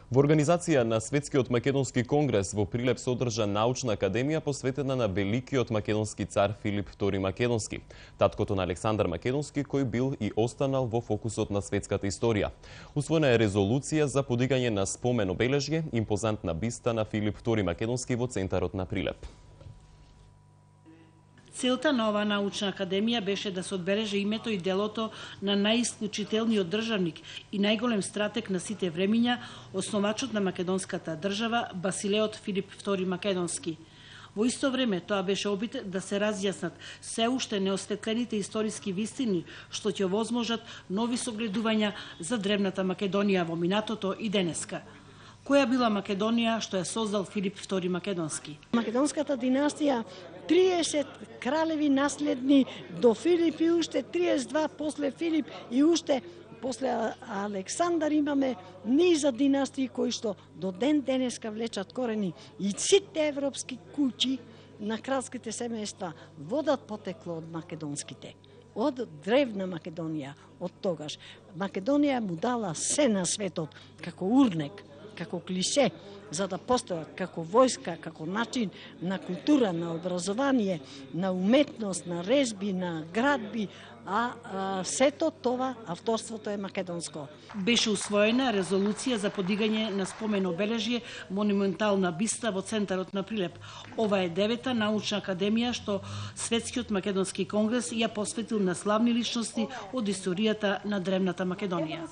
Во организација на Светскиот македонски конгрес во Прилеп се одржа научна академија посветена на великиот македонски цар Филип II Македонски, таткото на Александар Македонски, кој бил и останал во фокусот на светската историја. Усвоена е резолуција за подигање на спомен обележје, импозантна биста на Филип II Македонски во центарот на Прилеп. Целта на оваа научна академија беше да се одбележи името и делото на најисклучителниот државник и најголем стратег на сите времиња, основачот на македонската држава, Басилеот Филип II Македонски. Во исто време тоа беше обид да се разјаснат се уште неосветлените историски вистини, што ќе овозможат нови согледувања за древната Македонија во минатото и денеска. Која била Македонија што ја создал Филип II Македонски? Македонската династија 30 кралеви наследни до Филип и уште 32 после Филип и уште после Александар имаме низа династии кои што до ден денеска влечат корени и сите европски куќи на кралските семејства водат потекло од македонските. Од древна Македонија, од тогаш. Македонија му дала се на светот како урнек, како клише, за да постојат како војска, како начин на култура, на образование, на уметност, на резби, на градби, а сето това авторството е македонско. Беше усвоена резолуција за подигање на спомен обележје монументална биста во центарот на Прилеп. Ова е 9-та научна академија што Светскиот македонски конгрес ја посветил на славни личности од историјата на древната Македонија.